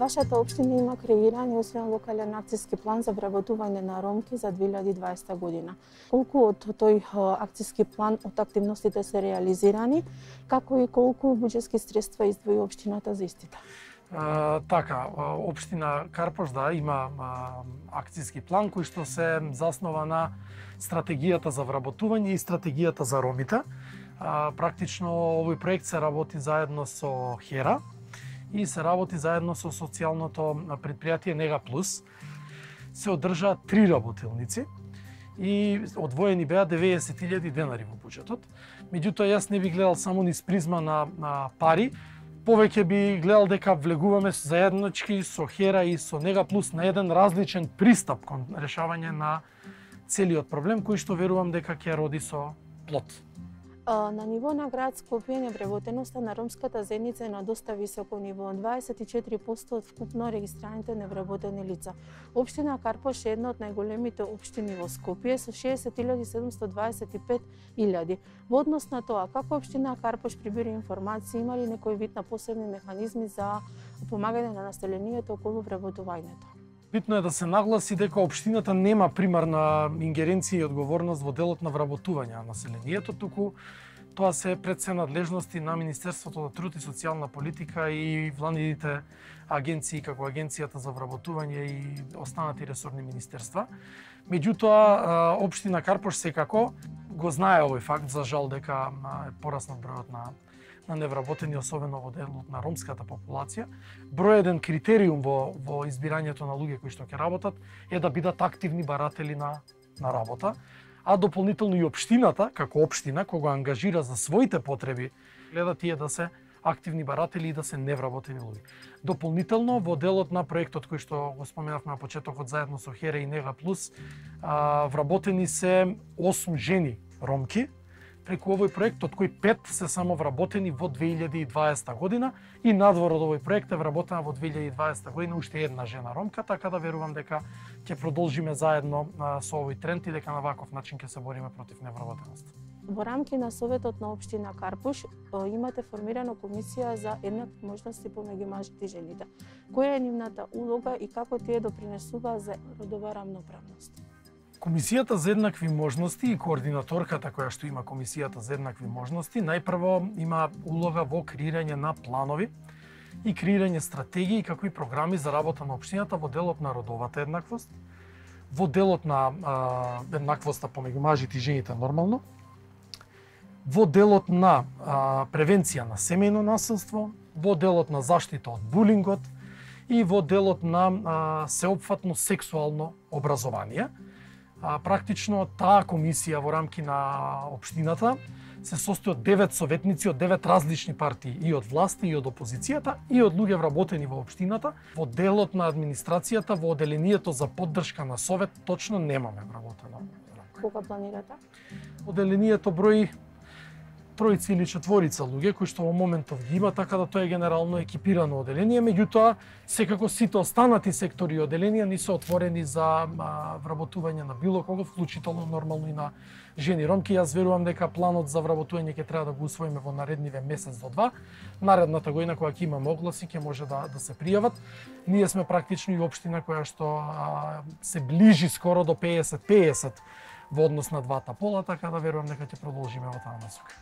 Вашата општина има креиран и усвоен локален акциски план за вработување на ромки за 2020 година. Колку од тој акциски план од активностите се реализирани, како и колку буџетски средства издвои општината за истите? Така, општина Карпош има акциски план кој што се заснова на стратегијата за вработување и стратегијата за ромите. Практично овој проект се работи заедно со ХЕРА и се работи заедно со социјалното предпријатие Нега Плюс. Се одржаа 3 работилници и одвоени беа 90.000 денари во буџетот. Меѓутоа, јас не би гледал само низ призма на пари, повеќе би гледал дека влегуваме заеднички со ХЕРА и со Нега Плюс на еден различен пристап кон решавање на целиот проблем, кој што верувам дека ќе роди со плод. На ниво на град Скопје невработеноста на ромската заедница е на доста високо ниво, 24% од вкупно регистрираните невработени лица. Општина Карпош е една од најголемите општини во Скопје со 60.725.000. Во однос на тоа, како општина Карпош прибира информации, има ли некој вид на посебни механизми за помагање на населението околу вработувањето? Битно е да се нагласи дека општината нема примарна ингеренција и одговорност во делот на вработување на населението, туку тоа се пред се надлежности на Министерството за труд и социјална политика и владините агенции, како Агенцијата за вработување и останати ресорни министерства. Меѓутоа, општина Карпош секако го знае овој факт, за жал дека е пораснат бројот на невработени, особено во делот на ромската популација. Број еден критериум во избирањето на луѓе кои што ќе работат е да бидат активни баратели на работа, а дополнително и општината, како општина, кога ангажира за своите потреби, гледа тие да се активни баратели и да се невработени луѓе. Дополнително, во делот на проектот кој што го споменавме на почетокот заедно со ХЕРА и Нега Плюс, вработени се 8 жени ромки, преку овој проект, од кои 5 се само вработени во 2020 година и надвор од овој проект е вработена во 2020 година уште една жена ромка, така да верувам дека ќе продолжиме заедно со овој тренд и дека на ваков начин ќе се бориме против невработеност. Во рамки на Советот на општина Карпош имате формирана комисија за еднакви можности помеѓу мажите и жените. Која е нивната улога и како тие допринесува за родова рамноправност? Комисијата за еднакви можности и координаторката која што има Комисијата за еднакви можности, најпрво има улога во креирање на планови и креирање стратегии како и програми за работа на општината во делот на родовата еднаквост, во делот на еднаквоста помеѓу мажите и жените нормално, во делот на превенција на семејно насилство, во делот на заштита од булингот и во делот на сеопфатно сексуално образование. Практично таа комисија во рамки на општината се состои од 9 советници од 9 различни партии, и од власти, и од опозицијата, и од луѓе вработени во општината. Во делот на администрацијата, во оделението за поддршка на совет, точно немаме вработено. Кога планирате? Оделението брои 3 или 4 луѓе кои што во моментов ги има, така да тоа е генерално екипирано оделение, меѓутоа секако сите останати сектори и оделенија не се отворени за вработување на било кого, вклучително нормално и на жени ромки. Јас верувам дека планот за вработување ќе треба да го усвоиме во наредниве месец до 2. Наредната година кога ќе имаме огласи ќе може да се пријават. Ние сме практично и општина која што се ближи скоро до 50-50 во однос на двата пола, така да верувам дека ќе продолжиме во таа насока.